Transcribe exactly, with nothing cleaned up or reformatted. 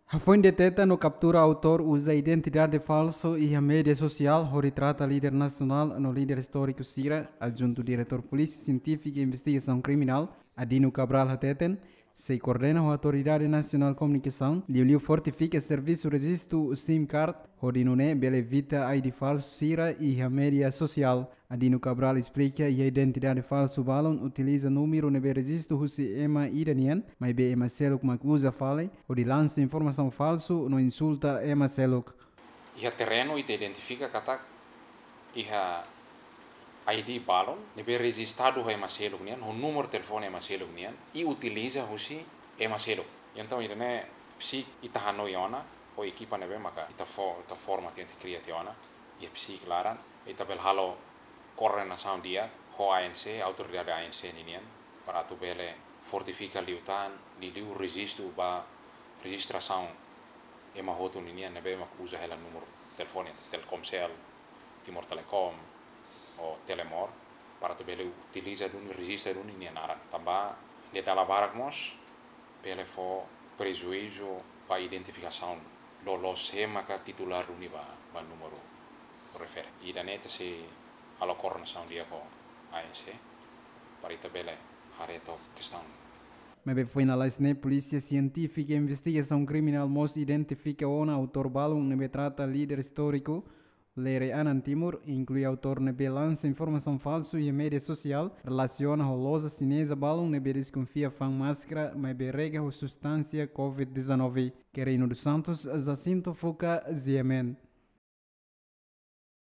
Hafoin deteta no kaptura autór uza identidade falsu iha média sosiál hodi trata líder nasionál no líder istóriku sira, adjuntu diretór Polísia Sientífika i Investigasaun Kriminál, Adino Cabral hateten, sei koordena ho Autoridade Nasionál Komunikasaun, liuliu fortifika servisu rejistu SIM card, hodi nune'e bele evita I D falsu sira iha média sosiál. Adino Cabral esplika, iha identidade falsu balun utiliza númeru ne'ebé rejistu husi ema ida nian, maibé ema seluk mak uza fali, hodi lansa informasaun falsu no insulta ema seluk. Iha terrenu ita identifika katak iha I D balun ne'ebé rejistadu ho ema seluk nian, ho númeru telefone ema seluk nian, i utiliza husi ema seluk. Entaun, ida-ne'e psik ita hanoin ona, ho ekipa ne'ebé maka ita fó, ita forma tiha, ita kria tiha ona, iha psik laran, ita bele halo koordenasaun di'ak ho A N C, autoridade A N C ninian, para atu bele fortifika liután, liuliu rejistu ba rejistrasaun ema hotu ninian ne'ebé mak uza hela númeru telefone, Telkomsel, Timor Telecom, ou Telemor, para atu bele utiliza duni, rejista duni nia naran. Tanba nia dala barak mós bele fó prejuízu ba identifikasaun loloos sé maka titulár duni ba, ba númeru refere. Ida-ne'e ita sei halo koordenasaun di'ak ho A N C, para ita bele haree took kestaun. Maibé foin lalais ne'e, Polísia Sientífika i Investigasaun Kriminál mós identifika ona autór balun ne'ebé trata líder istóriku Lere Anan Timur, inklui autór ne'ebé lansa informasaun falsu iha média sosiál relasiona ho loja xineza balun ne'ebé deskonfia fa'an máskara, maibé rega ho substánsia covid dezanove. Querino dos Santos, Jacinto Fuca, G M N.